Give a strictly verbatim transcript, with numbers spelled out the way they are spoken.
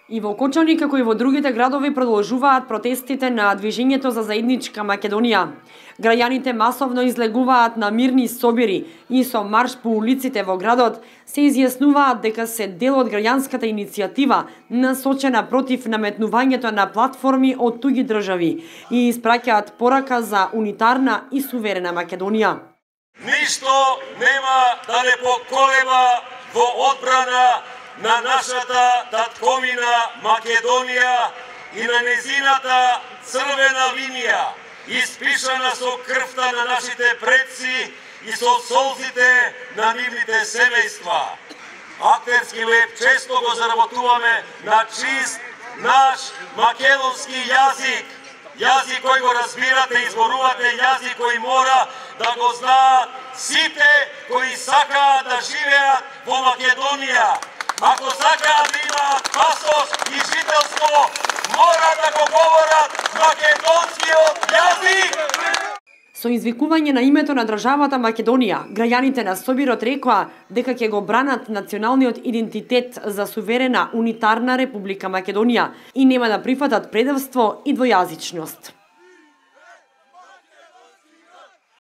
И во Кочани, како и во другите градови, продолжуваат протестите на Движењето за заедничка Македонија. Граѓаните масовно излегуваат на мирни собири и со марш по улиците во градот се изјаснуваат дека се дел од граѓанската иницијатива насочена против наметнувањето на платформи од туѓи држави и испраќаат порака за унитарна и суверена Македонија. Ништо нема да не поколеба во одбрана на нашата татковина Македонија и на незината црвена линија, испишана со крвта на нашите предци и со солзите на нивните семејства. Актерски леп често го заработуваме на чист наш македонски јазик, јазик кој го разбирате, изборувате, јазик кој мора да го знаат сите кои сакаат да живеат во Македонија. Ако сакаат да имаат пасош и жителство, мора да го говорат македонскиот јазик. Со извикување на името на државата Македонија, граѓаните на собирот рекоа дека ќе го бранат националниот идентитет за суверена унитарна Република Македонија и нема да прифатат предавство и двојазичност.